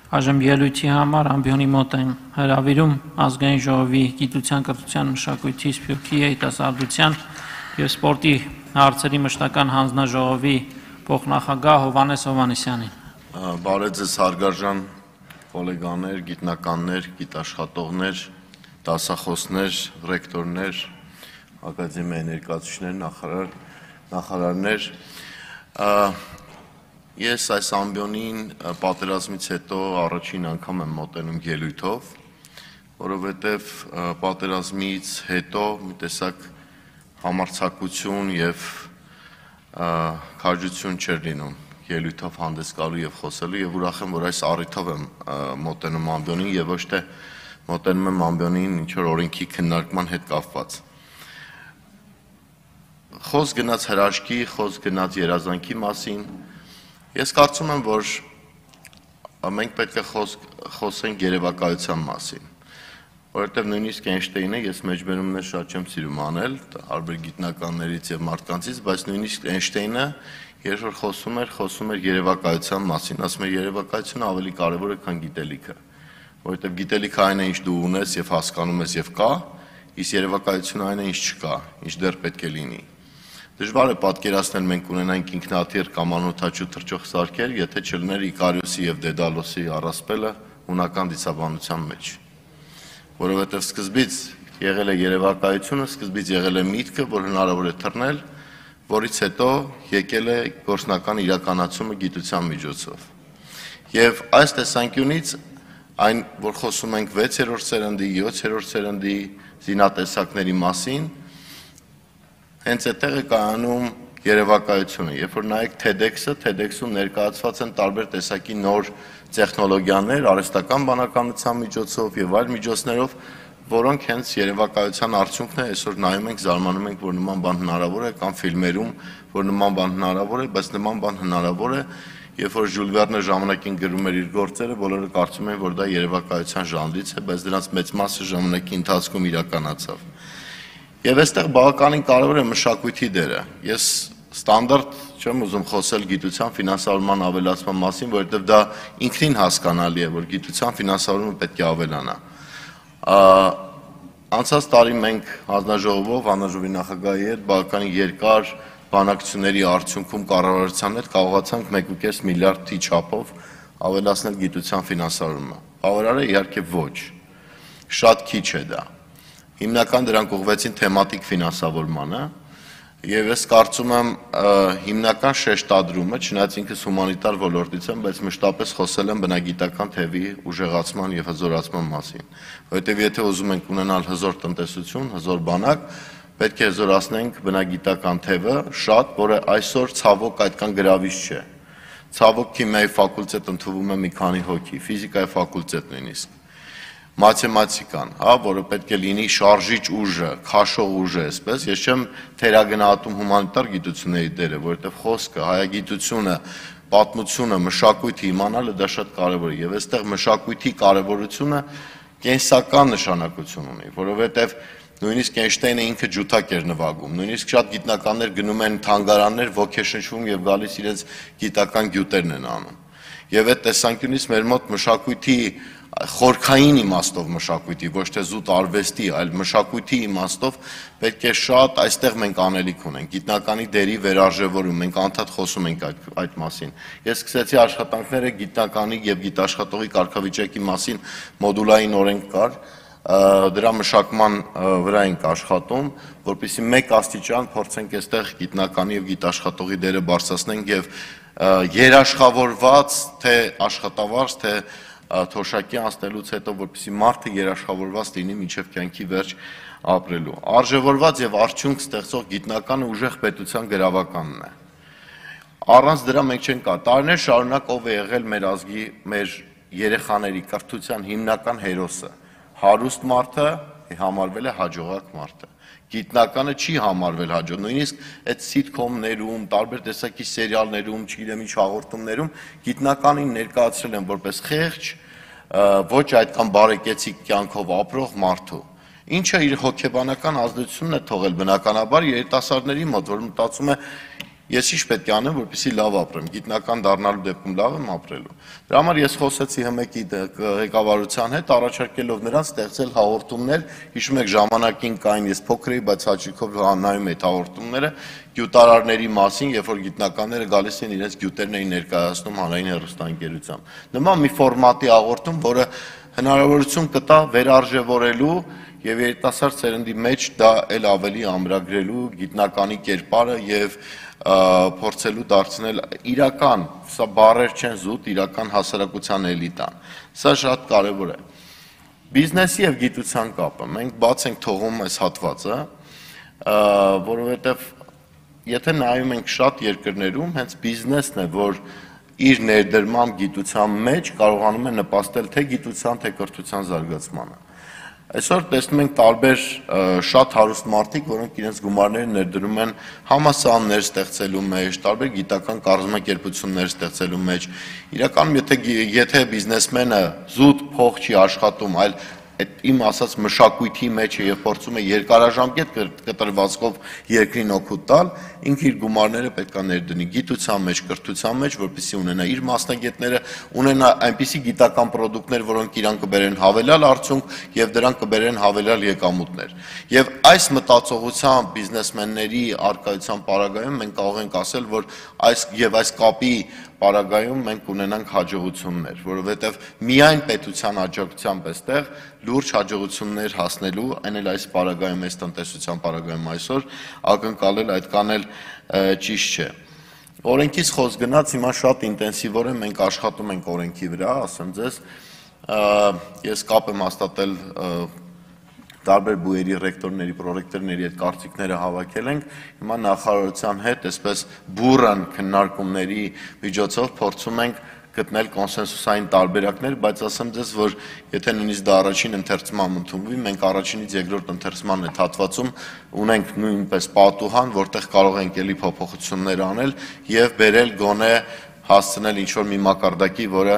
Այժմ ելույթի համար ամբիոնի մոտ են հրավիրում ազգային ժողովի գիտության, կրթության, մշակույթի, սփյուռքի, երիտասարդության եւ սպորտի հարցերի մշտական հանձնաժողովի փոխնախագահ Հովհաննես Հովհաննիսյանին։ Բարև ձեզ հարգարժան գոլեգաներ, գիտնականներ, գիտաշխատողներ, դասախոսներ, ռեկտորներ, ակադեմիայի ներկայացուցիչներ, նախարարներ։ Ես այս ամբիոնին պատերազմից հետո առաջին անգամ եմ մոտենում ելույթով, որովհետև պատերազմից հետո մի տեսակ համարձակություն եւ քաջություն չէր լինում ելույթով հանդես գալու եւ խոսելու եւ ուրախ եմ, որ այս առիթով եմ մոտենում ամբիոնին եւ ոչ թե մոտենում եմ ամբիոնին ինչ որ օրենքի քննարկման հետ կապված։ Խոսք գնաց հրաշքի, խոսք գնաց երազանքի մասին։ Ես կարծում եմ, որ մենք պետք է խոսենք երևակայության մասին, որովհետև նույնիսկ Էյնշտեյնը ես մեջբերումներ շատ չեմ սիրում անել, տարբեր գիտնականներից եւ մարդկանցից, բայց նույնիսկ Էյնշտեյնը երբ որ խոսում էր երևակայության մասին, ասում էր երևակայությունը ավելի կարևոր է, քան գիտելիքը, որովհետև գիտելիքը այն է, ինչ դու ունես եւ հասկանում ես եւ կա, իսկ երևակայությունը այն է, ինչ չկա, ինչ դեռ պետք է լինի։ Դժվար է պատկերացնել մենք ունենանք ինքնաթիռ կամ անօդաչու թռչող սարքեր, եթե չլիներ Իկարիոսի եւ Դեդալոսի առասպելը հունական դիցաբանության մեջ։ Որովհետեւ սկզբից եղել է երևակայությունը, սկզբից եղել է միտքը, որ հնարավոր է թռնել, որից հետո եկել է գործնական իրականացումը գիտության միջոցով։ Եվ այս տեսանկյունից այն, որ խոսում ենք 6-րդ սերնդի, 7-րդ սերնդի զինատեսակների մասին, հենց այդտեղ է կայանում երևակայությունը, երբ որ նայեք TEDx-ում ներկայացված են տարբեր տեսակի նոր տեխնոլոգիաներ, արհեստական բանականության միջոցով եւ այլ միջոցներով, որոնք հենց երևակայության արդյունքն է, այսօր նայում ենք, զարմանում ենք, որ նման բան հնարավոր է, կամ ֆիլմերում, որ նման բան հնարավոր է, բայց նման բան հնարավոր է, երբ որ Ժյուլ Վերնը ժամանակին գրում էր իր գործերը, բոլորը կարծում են, որ դա երևակայության ժանրից է, բայց դրանց մեծ մասը ժամանակի ընթացքում իրականացավ։ Եվ այստեղ բավականին կարևոր է մշակույթի դերը։ Ես ստանդարտ չեմ ուզում խոսել գիտության ֆինանսավորման ավելացման մասին, որովհետև դա ինքնին հասկանալի է, որ գիտության ֆինանսավորումը պետք է ավելանա։ Անցած տարի մենք հանձնաժողովով, հանձնաժողովի նախագահի հետ բավականին երկար բանակցությունների արդյունքում կառավարության հետ կարողացանք 1.5 միլիարդի չափով ավելացնել գիտության ֆինանսավորումը։ Բավարար է, իհարկե ոչ։ Շատ քիչ է դա։ Հիմնական դրանք ուղղվեցին թեմատիկ ֆինանսավորմանը եւ ես կարծում եմ հիմնական շեշտադրումը, չնայած ինքս հումանիտար ոլորտից եմ, բայց մշտապես խոսել եմ բնագիտական թևի ուժեղացման եւ հզորացման մասին, որովհետեւ եթե ուզում ենք ունենալ հզոր տնտեսություն, հզոր բանակ, պետք է հզորացնենք բնագիտական թևը շատ, որը այսօր ցավոք այդքան գրավիչ չէ։ Ցավոք քիմիայի ֆակուլտետ ընդունվում է մի քանի հոգի, ֆիզիկայի ֆակուլտետ նույնիսկ։ Մաթեմատիկան, որը պետք է լինի շարժիչ ուժը, քաշող ուժը, այսպես, ես չեմ թերագնահատում հումանիտար գիտությունների դերը, որովհետև խոսքը, հայագիտությունը, պատմությունը, մշակույթը իմանալը դա շատ կարևոր է, եւ այստեղ մշակույթի կարևորությունը կենսական նշանակություն ունի, որովհետև նույնիսկ Էյնշտեյնը ինքը ջութակ էր նվագում, նույնիսկ շատ գիտնականներ գնում են թանգարաններ, ոգեշնչվում եւ գալիս իրենց գիտական գյուտերն են անում։ Եվ այդ տեսանկյունից մեր մոտ մշակույթի խորքային իմաստով մշակույթի, ոչ թե զուտ արվեստի, այլ մշակույթի իմաստով պետք է շատ այստեղ մենք անելիք ունենք, գիտնականի դերի վերարժևորում, մենք անդադ խոսում ենք այդ մասին։ Ես սկսեցի աշխատանքները գիտնականի եւ գիտաշխատողի կարգավիճակի մասին մոդուլային օրենք կար, դրա մշակման վրա ենք աշխատում, որպեսզի մեկ աստիճան փորձենք այստեղ գիտնականի եւ գիտաշխատողի դերը բարձրացնենք եւ երաշխավորված, թե աշխատավարձ, թե թոշակի անցնելուց հետո, որպեսզի մարդը երաշխավորված լինի մինչև կյանքի վերջ ապրելու։ Արժևորված եւ արդյունք ստեղծող գիտնականը ուժեղ պետության գրավականն է։ Առանց դրա մենք չենք կա։ Տարիներ շարունակ ով է եղել մեր ազգի, մեր երեխաների կրթության հիմնական հերոսը։ Հարուստ մարդը համարվել է հաջողակ մարդը։ Գիտնականը չի համարվել հաջող, նույնիսկ այդ սիթքոմներում, տարբեր տեսակի սերիալներում, չգիտեմ ինչ հաղորդումներում գիտնականին ներկայացրել են որպես խեղճ, ոչ այդքան բարեկեցիկ կյանքով ապրող մարդու, ինչը իր հոգեբանական ազդեցությունն է թողել բնականաբար երիտասարդների մոտ, որ մտածում է Ես ինչ պետք է անեմ, որպեսզի լավ ապրեմ, գիտնական դառնալու դեպքում լավ եմ ապրելու։ Դրա համար ես խոսեցի ՀՄԿ-ի ղեկավարության հետ, առաջարկելով նրանց ստեղծել հաղորդումներ, հիշում եք ժամանակին կային, ես փոքր էի, բայց հաճույքով նայում էի հաղորդումները գյուտարարների մասին, երբ որ գիտնականները գալիս են իրենց գյուտերն էին ներկայացնում հանրային հեռուստաընկերությամբ։ Նման մի ֆորմատի հաղորդում, որը հնարավորություն կտա վերարժևորելու եւ երիտասարդ սերնդի մեջ դա էլ ավելի ամրագրելու գիտնականի կերպարը եւ փորձելու դարձնել իրական, սա բառեր չեն զուտ, իրական հասարակության էլիտան։ Սա շատ կարևոր է։ Բիզնեսի եւ գիտության կապը։ Մենք բաց ենք թողում այս հատվածը, որովհետեւ եթե նայում ենք շատ երկրներում, հենց բիզնեսն է, որ իր ներդրմամբ գիտության մեջ կարողանում է նպաստել թե գիտության, թե կրթության զարգացմանը։ Այսօր տեսնում ենք տարբեր շատ հարուստ մարդիկ, որոնք իրենց գումարները ներդրում են համալսարաններ ստեղծելու մեջ, տարբեր գիտական կառուցմակերպություններ ստեղծելու մեջ։ Իրականում եթե բիզնեսմենը զուտ փող չի աշխատում, այլ այդ իմ ասած մշակույթի մեջ է եւ փորձում է երկարաժամկետ կտրվածքով երկրին օգուտ տալ, ինքը իր գումարները պետք է ներդնի գիտության մեջ, կրթության մեջ, որպեսզի ունենա իր մասնագետները, ունենա այնպիսի գիտական պրոդուկտներ, որոնք իրան կբերեն հավելյալ արդյունք եւ դրանք կբերեն հավելյալ եկամուտներ։ Եվ այս մտածողությամբ բիզնեսմենների արկայության պարագայում մենք կարող ենք ասել, որ այս կապի պարագայում մենք ունենանք հաջողություններ, որովհետև միայն պետության աջակցությամբ այստեղ լուրջ հաջողություններ հասնելու, այն էլ այս պարագայում, այս տնտեսության պարագայում այսօր ակնկալել այդքան էլ ճիշտ չէ։ Օրենքից խոսք գնաց, հիմա շատ ինտենսիվորեն մենք աշխատում ենք օրենքի վրա, ասեմ ձեզ, ես կապ եմ հաստատել տարբեր բուերի ռեկտորների, պրոռեկտորների այդ կարծիքները հավաքել ենք, հիմա նախարարության հետ այսպես բուրըն քննարկումների միջոցով փորձում ենք գտնել կոնսենսուսային տարբերակներ, բայց ասեմ ձեզ, որ եթե նույնիսկ դա առաջին ընթերցման ընդունվի, մենք առաջինից երկրորդ ընթերցման այդ հատվածում ունենք նույնպես պատուհան, որտեղ կարող ենք էլի փոփոխություններ անել եւ բերել գոնե հասցնել ինչ-որ մի մակարդակի, որը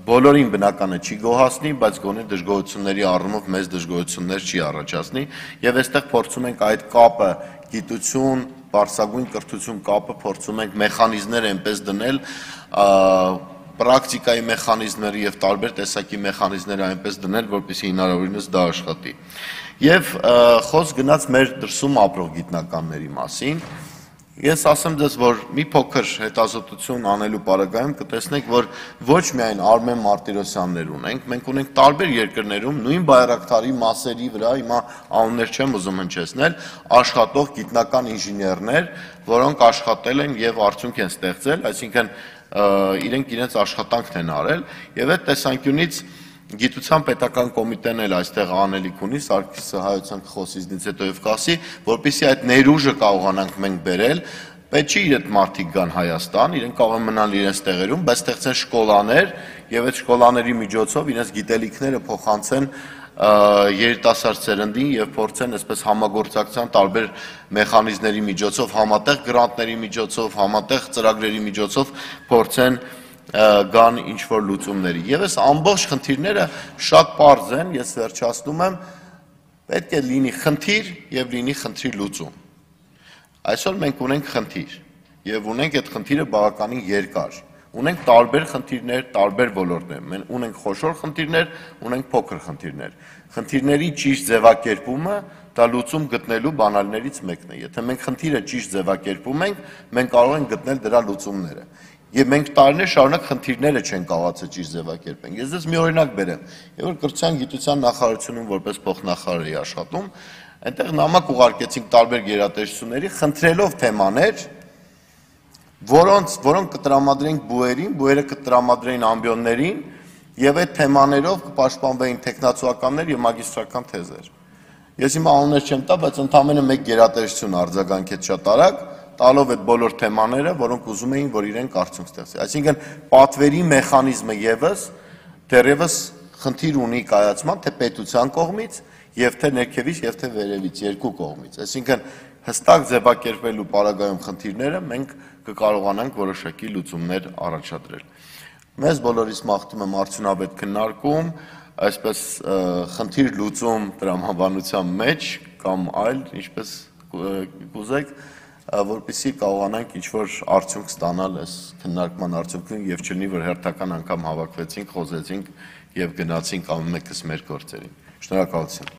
բոլորին բնականը չի գոհացնի, բայց գոնե դժգոհությունների առումով մեծ դժգոհություններ չի առաջացնի եւ այստեղ փորձում ենք այդ կապը գիտություն, բարձրագույն կրթություն կապը փորձում ենք մեխանիզմներ այնպես դնել, պրակտիկայի մեխանիզմներ եւ տարբեր տեսակի մեխանիզմներ այնպես դնել, որպեսզի հնարավորինս դա աշխատի։ Եվ խոսք գնաց մեր դրսում ապրող գիտնականների մասին։ Ես ասեմ ձեզ, որ մի փոքր հետազոտություն անելու պարագայում կտեսնեք, որ ոչ միայն Արմեն Մարտիրոսյաններ ունենք, մենք ունենք տարբեր երկրներում նույն բայրակտարի մասերի վրա, հիմա անուններ չեմ ուզում հնչեցնել, աշխատող գիտնական ինժեներներ, որոնք աշխատել են եւ արդյունք են ստեղծել, այսինքն իրենք իրենց աշխատանքն են արել եւ այդ տեսանկյունից Գիտության պետական կոմիտեն էլ այստեղ անելիք ունի, Սարգիսը հայության կխոսի ինձ հետո եւ կասի, որպեսզի այդ ներուժը կարողանանք մենք բերել, պետք չի իրենք մարդիկ գան Հայաստան, իրենք կարող են մնալ իրենց տեղերում, բայց ստեղծեն շկոլաներ եւ այդ շկոլաների միջոցով իրենց գիտելիքները փոխանցեն երիտասարդ սերնդին եւ փորձեն այսպես համագործակցության տարբեր մեխանիզմների միջոցով, համատեղ գրանտների միջոցով, համատեղ ծրագրերի միջոցով փորձեն գան ինչ-որ լուծումների։ Եվ այս ամբողջ խնդիրները շատ պարզ են, ես վերջացնում եմ, պետք է լինի խնդիր եւ լինի խնդրի լուծում։ Այսօր մենք ունենք խնդիր եւ ունենք այդ խնդիրը բավականին երկար։ Ունենք տարբեր խնդիրներ, տարբեր ոլորտներ։ Մենք ունենք խոշոր խնդիրներ, ունենք փոքր խնդիրներ։ Խնդիրների ճիշտ ձևակերպումը դա լուծում գտնելու բանալներից մեկն է։ Եթե մենք խնդիրը ճիշտ ձևակերպում ենք, մենք կարող ենք գտնել դրա լուծումները։ Եվ մենք տարիներ շարունակ խնդիրները չեն կարողացել ճիշտ ձևակերպենք։ Ես ձեզ մի օրինակ բերեմ։ Եվ որ կրթության գիտության նախարարությունում որպես փոխնախարար էի աշխատում, այնտեղ նամակ ուղարկեցինք տարբեր գերատեսչությունների, խնդրելով թեմաներ, որոնք կտրամադրենք բուերին, բուերը կտրամադրեին ամբիոններին, եւ այդ թեմաներով կպաշտպանվեին տեխնացուականներ եւ մագիստրական թեզեր։ Ես հիմա անուններ չեմ տա, բայց ընդամենը մեկ գերատեսչություն արձագանքեց շատ արագ, տալով այդ բոլոր թեմաները, որոնք ուզում էին, որ իրենք արդյունք ստեղծեն։ Այսինքն պատվերի մեխանիզմը եւս դեռևս խնդիր ունի կայացման թե պետության կողմից, եւ թե ներքևից, եւ թե վերևից, երկու կողմից։ Այսինքն հստակ ձևակերպելու պարագայում խնդիրները մենք կկարողանանք որոշակի լուծումներ առաջադրել։ Մեզ բոլորիս մաղթում եմ արդյունավետ քննարկում, այսպես խնդիր լուծում տրամաբանության մեջ կամ այլ, ինչպես կուզեք, որպեսզի կարողանանք ինչ-որ արդյունք ստանալ այս քննարկման արդյունքում եւ չլինի, որ հերթական անգամ հավաքվեցինք, խոսեցինք եւ գնացինք ամեն մեկս մեր գործերին։ Շնորհակալություն։